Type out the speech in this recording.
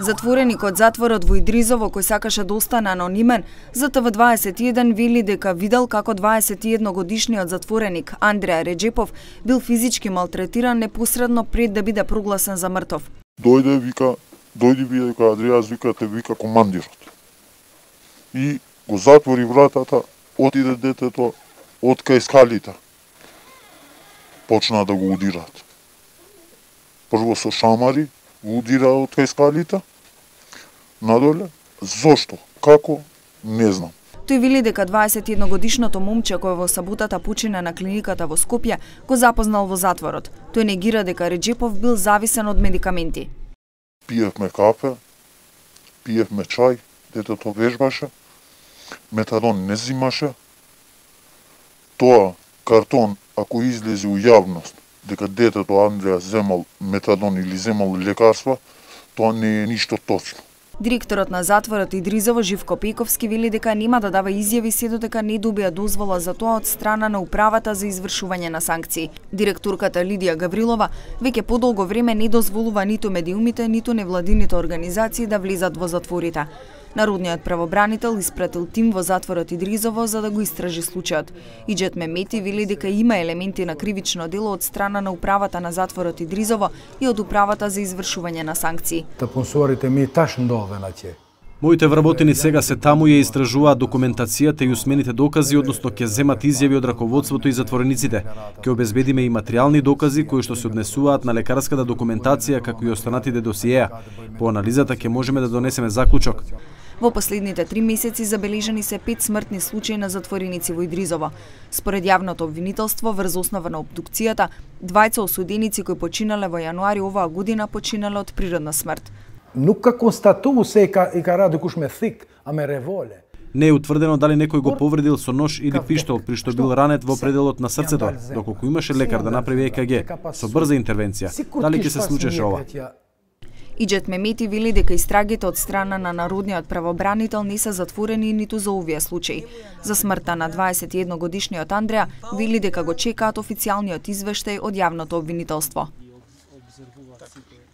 Затвореник од затворот во Идризово, кој сакаше да остане анонимен, за ТВ21 вели дека видел како 21-годишниот затвореник Андреа Реджепов бил физички малтретиран непосредно пред да биде прогласен за мртов. Дојде вика Адријас, вика те вика командирот. И го затвори вратата, отиде детето од кај скалите. Почна да го удираат. Прво со шамари, го удира од кај скалите, надоле. Зошто? Како? Не знам. Тој вели дека 21-годишното момче кој во саботата почина на клиниката во Скопје го запознал во затворот. Тој негира дека Реджепов бил зависен од медикаменти. Пиевме кафе, пиевме чај, детето вежбаше, метадон не зимаше. Тоа картон, ако излезе у јавност дека детето Андреа земал метадон или земал лекарства, тоа не е ништо точно. Директорот на затворот Идризово Живко Пековски вели дека нема да дава изјави се додека не добија дозвола за тоа од страна на управата за извршување на санкции. Директорката Лидија Гаврилова веќе подолго време не дозволува ниту медиумите, ниту невладините организации да влезат во затворите. Народниот правобранител испратил тим во затворот Идризово за да го истражи случајот. Иџет Мемети вели дека има елементи на кривично дело од страна на управата на затворот Идризово и од управата за извршување на санкции. Моите вработени сега се таму ја истражуваат документацијата и усмените докази, односно ќе земат изјави од раководството и затворениците. Ќе обезбедиме и материјални докази кои што се однесуваат на лекарската документација како и останатите досиеа. По анализата ќе можеме да донесеме заклучок. Во последните 3 месеци забележани се 5 смртни случаи на затвореници во Идризово. Според јавното обвинителство, врз основа на обдукцијата, двајца осуденици кои починале во јануари оваа година починале од природна смрт. Nunca constatou se encarado com os methik a me revole. Не е утврдено дали некој го повредил со нож или пиштол при што бил ранет во пределот на срцето, доколку имаше лекар да направи ЕКГ со брза интервенција. Дали ќе се случеше ова? Иџет Мемети вели дека истрагите од страна на народниот правобранител не се затворени ниту за овие случаи. За смртта на 21-годишниот Андреа вели дека го чекаат официјалниот извештај од јавното обвинителство.